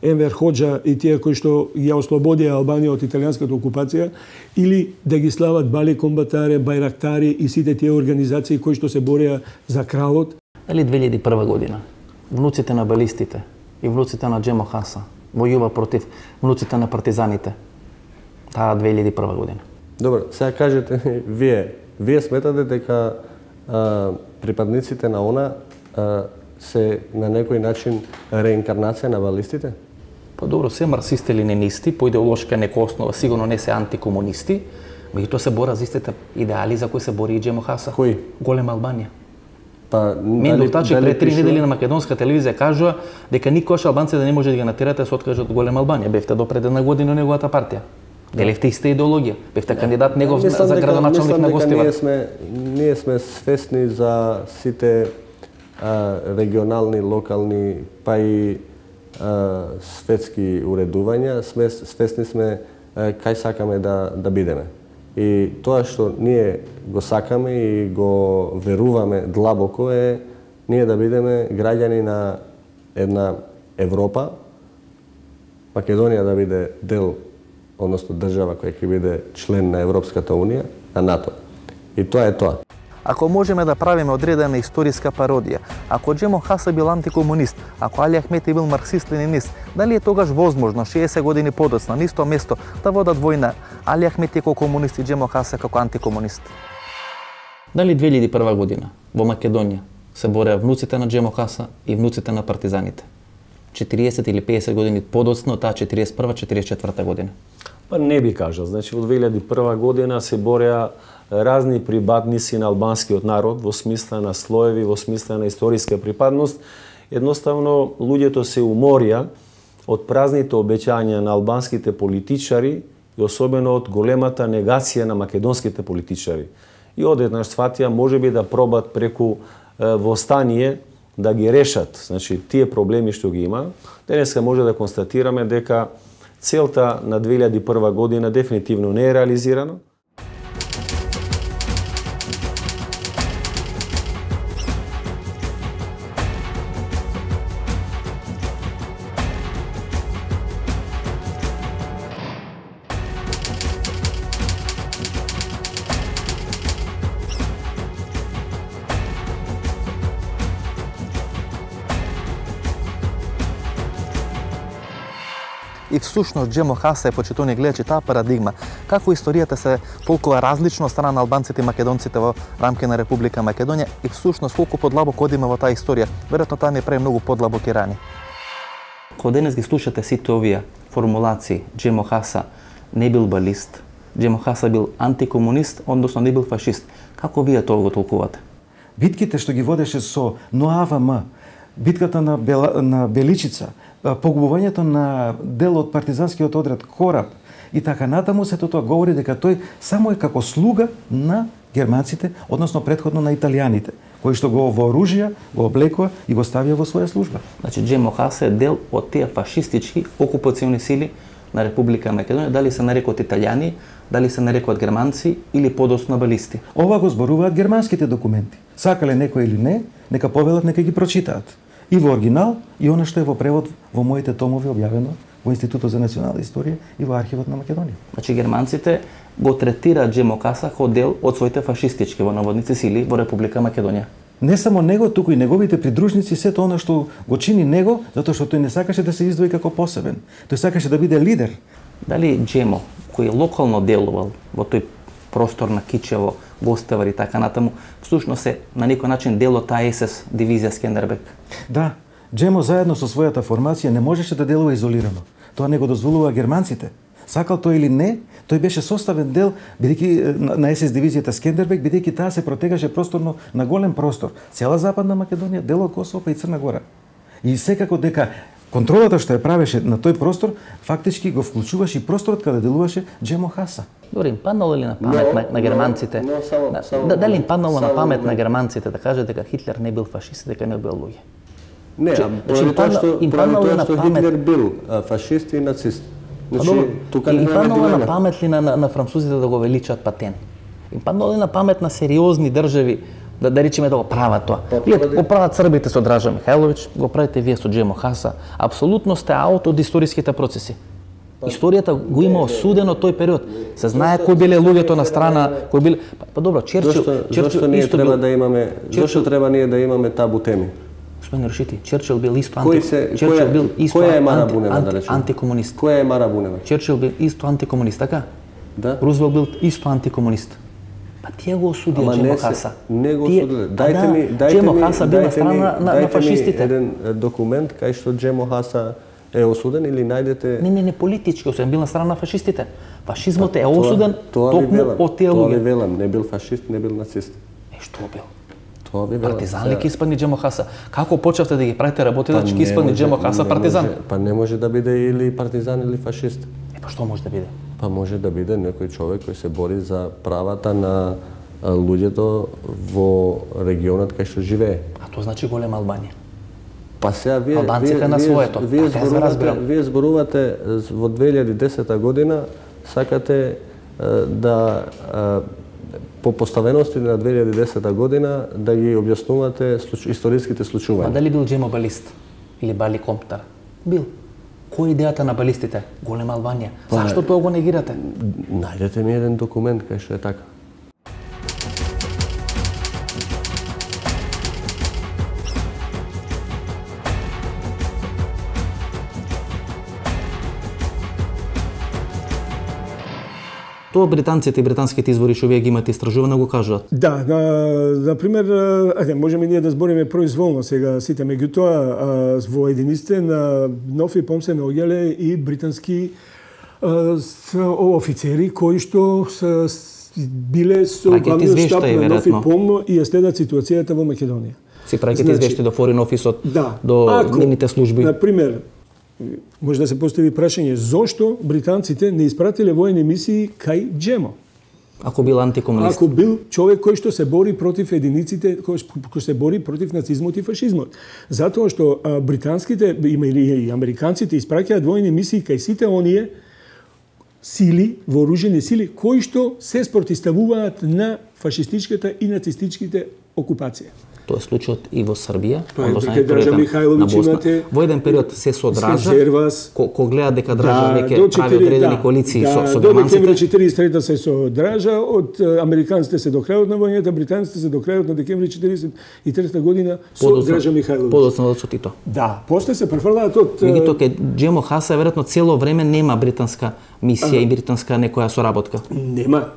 Енвер Хоџа и тие кои што ја ослободија Албанија од италијанската окупација, или да ги слават Бали Комбатаре, Байрактари и сите тие организации кои што се бореа за кралот. Дали две илјади и прва година внуците на балистите и внуците на Джемо Хаса војува против внуците на партизаните таа две илјади и прва година? Добро, сега кажете вие, вие сметате дека а, припадниците на она а, се на некој начин реинкарнација на балистите? Па добро, се марксисти или ленисти, по идеолошка нека основа, сигурно не се антикомунисти, меѓутоа се бора за истите идеали за кои се бори и Джемо Хаса. Кои? Голема Албанија. Па, Мендов Тачи пред три недели на македонска телевизија кажува дека никош албанците да не може да ги натерате да се откажат од голема Албанија. Бевте до пред една година неговата партија. Деливте иста идеологија. Бевте кандидат негов за градоначалник на Гостивар. Ние сме ние сме свесни за сите а, регионални, локални, па и а, светски уредувања, сме свесни сме а, кај сакаме да да бидеме. И тоа што ние го сакаме и го веруваме длабоко е ние да бидеме граѓани на една Европа, Македонија да биде дел, односно држава која ќе биде член на Европската Унија, на НАТО. И тоа е тоа. Ако можеме да правиме одредена историска пародија, ако Джемо Хаса бил антикомунист, ако Али Ахмети бил марксист-ленинист, дали е тогаш возможно шеесет години подоцна на исто место да водат војна Али Ахмети како комунист и Джемо Хаса како антикомунист? Дали две илјади и прва година во Македонија се бореа внуците на Джемо Хаса и внуците на партизаните? четириесет или пеесет години подоцна од таа четириесет и прва четириесет и четврта година? Па не би кажал. Значи, во две илјади и прва година се бореа разни припадници на албанскиот народ во смисла на слоеви, во смисла на историска припадност. Едноставно, луѓето се уморија од празните обеќања на албанските политичари и особено од големата негација на македонските политичари. И одеднаш сватија можеби да пробат преку е, востание да ги решат, значи тие проблеми што ги има. Денеска може да констатираме дека целта на две илјади и прва година дефинитивно не е реализирана. И всушност Джемо Хаса е почитувани гледачи таа парадигма, како историјата се толкова различна од страна на албанците и македонците во рамки на Република Македонија и всушност колку подлабоко одиме во таа историја, веројатно таа не прави многу подлабоки рани. Кога денес ги слушате сите овие формулации, Джемо Хаса не бил балист, Джемо Хаса бил антикомунист, односно не бил фашист. Како вие тоа го толкувате? Битките што ги водеше со НОАВМ, битката на, Бела, на Беличица, погубувањето на дел од партизанскиот одред Кораб и така натаму, сето тоа говори дека тој само е како слуга на германците, односно претходно на италијаните, кои што го вооружија, го облекува и го ставија во своја служба. Значи Джемо Хаса е дел од тие фашистички окупациони сили на Република Македонија, дали се нарекот италијани, дали се нарекот германци или подоцна балисти. Ова го зборуваат германските документи. Сакале некој или не, нека повелат, нека ги прочитаат. И во оригинал, и она што е во превод во моите томови објавено во Институтот за национална историја и во Архивот на Македонија. Значи германците го третираат Джемо Хаса како дел од своите фашистички во наводници сили во Република Македонија. Не само него, туку и неговите придружници, сето она што го чини него, затоа што тој не сакаше да се издвои како посебен. Тој сакаше да биде лидер. Дали Джемо, кој локално делувал во тој простор на Кичево, Гостевар и така натаму, всушност се на некој начин дел од таа ес ес дивизија Скендербек? Да, Джемо заедно со својата формација не можеше да делува изолирано. Тоа не го дозволува германците. Сакал тој или не, тој беше составен дел бидејќи на ес ес дивизијата Скендербек, бидејќи таа се протегаше просторно на голем простор. Цела Западна Македонија, дел од Косово па и Црна Гора. И секако дека контролата што ја правеше на тој простор, фактички го вклучуваше и просторот каде делуваше Джемо Хаса. Добре, им паднало ли на памет no, на, на германците? No, no, само, да, само, да, дали им паднало само, на памет no. на германците да кажат дека Хитлер не бил фашист, дека не бил луѓе? Не, Че, поради тоа што, што Хитлер бил а, фашист и нацист. Значи, а, тука им паднало на памет ли на, на, на французите да го величат Патен? Им паднало ли на памет на сериозни држави да, да речеме да го прават тоа? Вие го прават србите со Дража Михајловиќ, го правите вие со Джемо Хаса. Апсолутно сте аут од историските процеси. Историјата го има осудено тој период. Се знае кои биле луѓето на страна, кои биле па, па добро, Черчил, Черчил зашто ние исто треба бил... да имаме, зашто треба ние да имаме табу теми? Господин Рашити, Черчил бил исто анти... Кој се, Черчил која, бил исто која е Мара анти, Бунева, анти, да речем? антикомунист. Која е Мара Бунева? Черчил бил исто антикомунист, така? Да. Рузвелт бил исто антикомунист. Па тие го осудија Джемо Хаса. Не го осудиле. Дайте ми, дайте Джемо ми, Хаса бил на страна на, на фашистите. Дайте ми еден документ кај што Джемо Хаса е осуден или најдете... Не, не, не политички осуден, бил на страна на фашистите. Фашизмот е осуден токму од тие луѓе. Тоа луѓе. ви велам, не бил фашист, не бил нацист. Е, што бил? Тоа ви велам. Партизан ли ки испадни Джемо Хаса? Како почнавте да ги правите работи да ќе испадни Джемо Хаса партизан? Може, па не може да биде или партизан или фашист. Е, па што може да биде? Па може да биде некој човек кој се бори за правата на луѓето во регионот кај што живее. А тоа значи голема Албанија. Па сега вие Албанците вие, на своето. Вие, така зборувате, вие зборувате во две илјади и десета година, сакате да по поставености на две илјади и десета година да ги објаснувате случ... историските случувања. А дали бил Джемо балист или Бали Комптар? Бил. Кој е идејата на балистите? Голема Албанија. Па, зашто тоа го негирате? Најдете ми еден документ кај што е така. Тоа британците и британските извори што вие ги имате истражувано го кажуваат. Да, на, на пример, ајде, можеме ние да збориме произволно сега сите, меѓутоа во единиците на нов и пом се наоѓале и британски а, офицери кои што се биле со главниот штаб на нов и пом и ја следат ситуацијата во Македонија. Си праќате значи, извешти до Foreign Office да, до нивните служби. На пример, може да се постави прашање зошто британците не испратиле воени мисии кај Джемо? Ако бил антикомунист. Ако бил човек кој што се бори против единиците, кој, кој се бори против нацизмот и фашизмот. Затоа што а, британските и американците испраќаат воени мисии кај сите оние сили, вооружени сили, кои што се спротивставуваат на фашистичката и нацистичките окупација. Тоа е случајот и во Србија, па, односно Дража Михајловиќ имате. Во еден период се содража, ко, ко гледа дека Дража да, веќе прави одредени да, коалиции да, со, со германците. До декември четиридесет и трета се содража, од американците се до крајот на војната, британците се до крајот на декември четиридесет и трета година со подоцна, Дража Михајловиќ. Подоцна од Сотито. Да, после се префрлаат од... Меѓутоа ке Джемо Хаса веројатно цело време нема британска мисија а, и британска некоја соработка. Нема.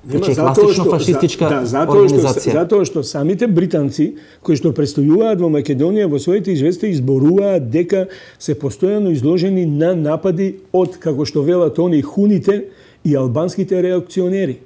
Нема, затоа што фашистичка да, затоа организација. Што, затоа што самите британци кои што престојуваат во Македонија во своите извести изборуваат дека се постојано изложени на напади од, како што велат они, хуните и албанските реакционери,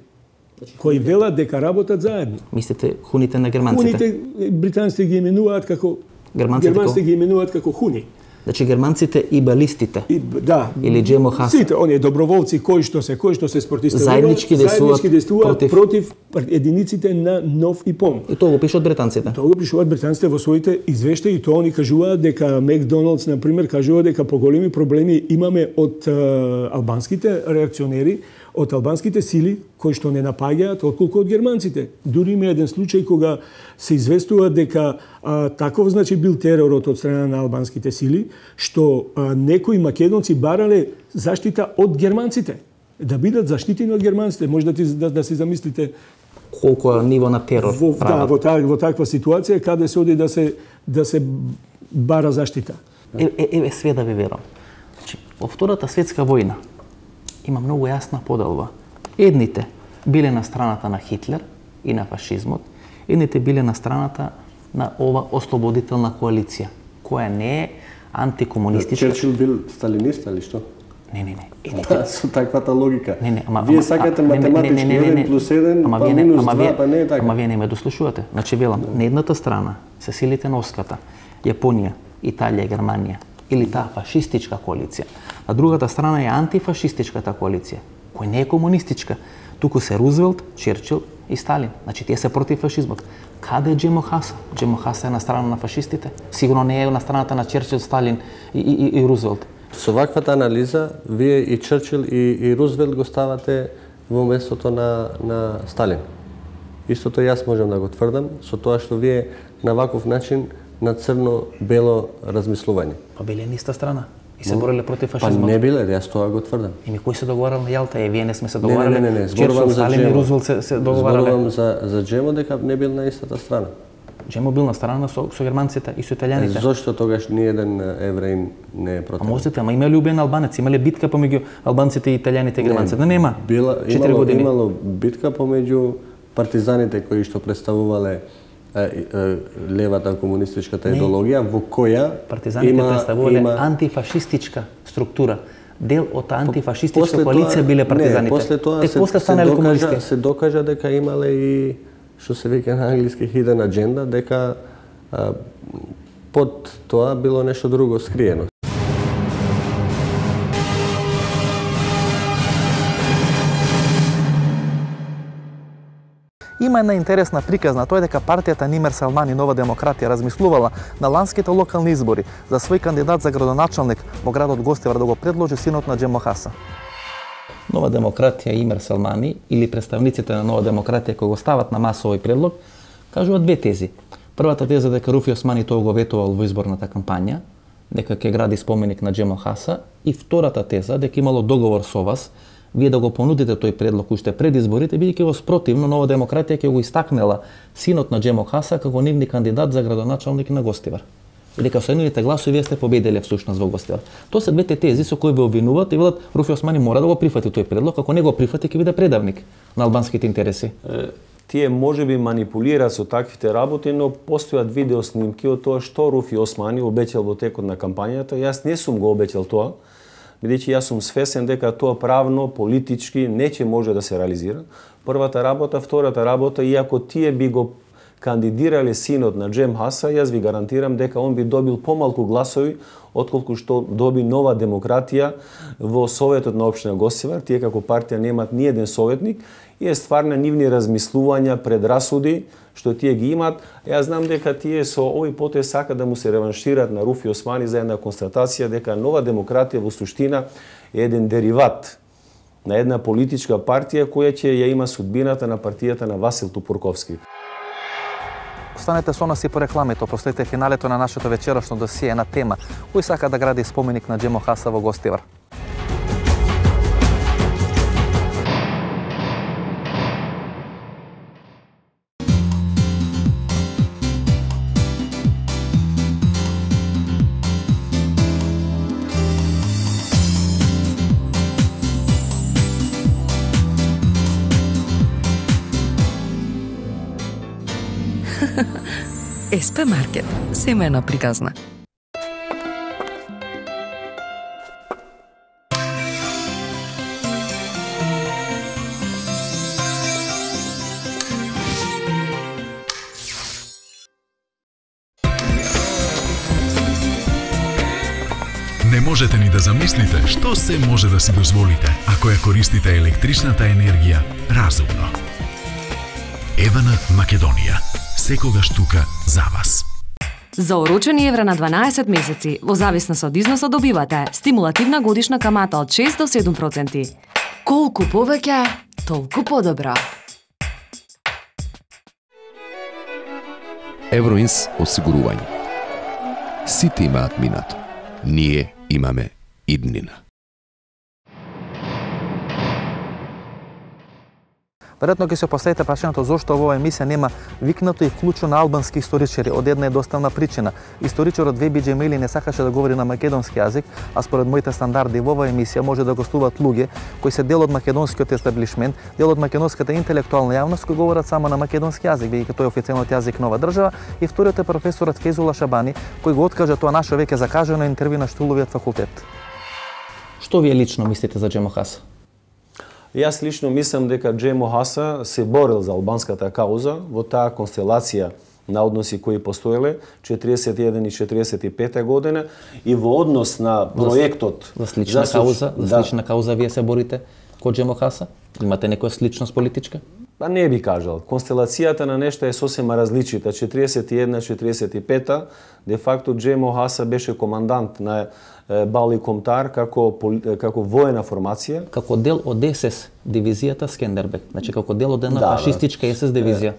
кои велат дека работат заедно. Мислите хуните на германците? Хуните британците ги именуваат како германците, германците ги именуваат како хуни. Значи германците и балистите. И, да. Или Джемо Хаса. Сите оние доброволци кои што се кои што се спортисти заеднички действуваат против, против единиците на Нов ИПОМ. И тоа го пишуваат британците. Тоа го пишуваат британците во своите извештаи и тоа они кажуваат дека Макдоналдс на пример кажува дека поголеми проблеми имаме од uh, албанските реакционери, од албанските сили кои што не напаѓаат отколку од германците. Дури има еден случај кога се известува дека а, таков значи бил теророт од страна на албанските сили, што а, некои македонци барале заштита од германците, да бидат заштитени од германците. Може да, ти, да, да си замислите колку е ниво на терор. Во, да, во, та, во таква ситуација каде се оди да се да се бара заштита. Еве е, е, све да ви верам. Значи, во Втората светска војна има многу јасна поделба. Едните биле на страната на Хитлер и на фашизмот, едните биле на страната на ова ослободителна коалиција, која не е антикомунистичка. Черчил бил сталинист или што? Не, не, не. Да, со таквата логика. Не, не, ама, вие сакате математички еден плюс еден, ама, па не, минус ама, два, па не е така. Ама вие не ме дослушувате. Значи, велам, на едната страна се силите на Оската, Јапонија, Италија, Германија, или таа фашистичка коалиција. На другата страна е антифашистичката коалиција, која не е комунистичка. Туку се Рузвелт, Черчил и Сталин. Значи, тие се против фашизмот. Каде е Джемо Хаса? Джемо Хаса е на страна на фашистите? Сигурно не е на страната на Черчил, Сталин и, и, и Рузвелт. Со ваквата анализа, вие и Черчил и, и Рузвелт го ставате во местото на, на Сталин. Истото јас можам да го тврдам, со тоа што вие на ваков начин на црно-бело размислување. Па биле на иста страна и се бореле против фашизмот. Па не биле, јас тоа го тврдам. Ими кој се договарал на Јалта? Е, вие не сме се договарале. Не, не, не, не. Зборувам за Сталин и Рузвелт се, се договарале. Зборувам за, за Джемо дека не бил на истата страна. Джемо бил на страна со, со германците и со италијаните. Зошто тогаш ни еден евреин не е против? А можете, ама имале убиен албанец, имале битка помеѓу албанците и италијаните и германците. Не, нема. Била, имало, имало битка помеѓу партизаните кои што представувале е, е, левата комунистичката не. идеологија, во која партизаните има, представувале има... антифашистичка структура. Дел од антифашистичка коалиција биле партизаните. Не, после тоа Тек се, после се, докажа, комунисти. се докажа дека имале и што се вика на англиски hidden agenda, дека а, под тоа било нешто друго скриено. Има една интересна приказна, тоа е дека партијата Нимер Салмани Нова демократија размислувала на ланските локални избори за свој кандидат за градоначалник во градот Гостивар да го предложи синот на Джемо Хаса. Нова демократија Имер Салмани или представниците на Нова демократија кои го стават на маса овој предлог, кажуваат две тези. Првата теза дека Руфи Османи тоа го ветувал во изборната кампања, дека ќе гради споменик на Джемо Хаса, и втората теза дека имало договор со вас вие да го понудите тој предлог уште пред изборите, бидејќи во спротивно Нова демократија ќе го истакнела синот на Джемо Хаса како нивни кандидат за градоначалник на Гостивар. И дека со нивните гласови вие сте победиле всушност во Гостивар. Тоа се двете тези со кои ве обвинуваат и велат Руфи Османи мора да го прифати тој предлог, ако не го прифати ќе биде предавник на албанските интереси. Тие можеби манипулираат со таквите работи, но постојат видео снимки од тоа што Руфи Османи обеќал во текот на кампањата. Јас не сум го обеќал тоа, бидејќи јас сум свесен дека тоа правно, политички не ќе може да се реализира. Првата работа, втората работа, иако тие би го кандидирале синот на Джем Хаса, јас ви гарантирам дека он би добил помалку гласови отколку што доби Нова демократија во Советот на општина Гостивар. Тие како партија немаат ни еден советник и е стварно нивни размислувања, предрасуди што тие ги имаат. Јас знам дека тие со овој потез сака да му се реваншираат на Руфи Османи за една констатација дека Нова демократија во суштина е еден дериват на една политичка партија која ќе ја има судбината на партијата на Васил Тупурковски. Останете со нас и по рекламите, проследете финалето на нашето вечерашно досие на тема кој сака да гради споменик на Джемо Хаса во Гостивар. ес пе Маркет, семејна приказна. Не можете ни да замислите што се може да си дозволите ако ја користите електричната енергија разумно. Евана Македонија. Секогаш тука за вас. За орочени евра на дванаесет месеци, во зависност од износот добивате стимулативна годишна камата од шест до седум проценти. Колку повеќе, толку подобро. Евроинс осигурување. Сите имаат минато. Ние имаме иднина. Веројатно ќе се поставите прашањето зошто во оваа емисија нема викнато и вклучено албански историчари од една едноставна причина. Историчарот Веби Џемили не сакаше да говори на македонски јазик, а според моите стандарди во оваа емисија може да гостуваат луѓе кои се дел од македонскиот естаблишмент, дел од македонската интелектуална јавност кои говорат само на македонски јазик, бидејќи тој е официјалниот јазик на оваа држава, и вториот е професорот Фезула Шабани, кој го откажа тоа наше веќе закажано интервју на Штуловиот факултет. Што вие лично мислите за Џемо Хаса? Јас лично мислам дека Џемо Хаса се борил за албанската кауза во таа констелација на односи кои постоеле четириесет и еден и четириесет и пета година и во однос на проектот за слична за кауза, за да. слична кауза вие се борите ко Џемо Хаса? Имате некоја сличност политичка? Па не би кажал. Констелацијата на нешто е сосема различита. четириесет и еден четириесет и пета де факто Џемо Хаса беше командант на Бали Комтар како како воена формација, како дел од Ес Ес дивизијата Скендербек, значи како дел од една да, фашистичка Ес Ес дивизија.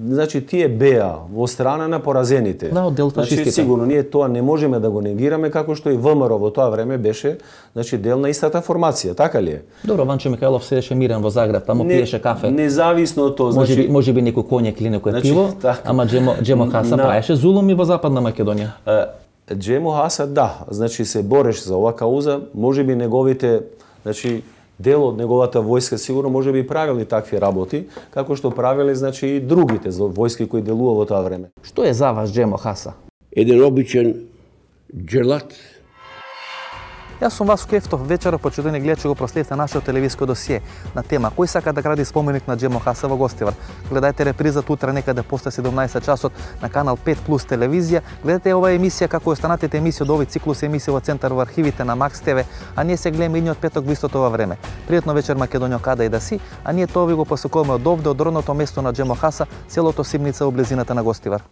Значи тие беа во страна на поразените. Да, од дел фашистите. Значи сигурно ние тоа не можеме да го негираме како што и ВМРО во тоа време беше, значи дел на истата формација, така ли е? Добро, Ванчо Михајлов седеше мирен во Загреб, таму не, пиеше кафе. Независно од тоа, значи може би некој конјак или некој значи, пиво, така, ама Џемо Џемо Хаса на... правеше зулуми во Западна Македонија. Џемо Хаса, да, значи се бореше за оваа кауза, може би неговите, значи дел од неговата војска сигурно може би правили такви работи, како што правиле значи и другите војски кои делува во тоа време. Што е за вас Џемо Хаса? Еден обичен џелат. Јас сум Васко Ефтов, вечера почитувани гледачи го проследите нашето телевизиско досие на тема кој сака да гради споменик на Џемо Хаса во Гостивар. Гледајте репризата утре некаде после седумнаесет часот на канал пет плюс телевизија. Гледате оваа емисија како и останатите емисии од овој циклус емисии во центар во архивите на Макс ТВ, а ние се гледаме идниот петок во истото ова време. Пријатно вечер Македонија каде и да си, а ние тоа ви го посакуваме од овде од родното место на Џемо Хаса, селото Симница во близината на Гостивар.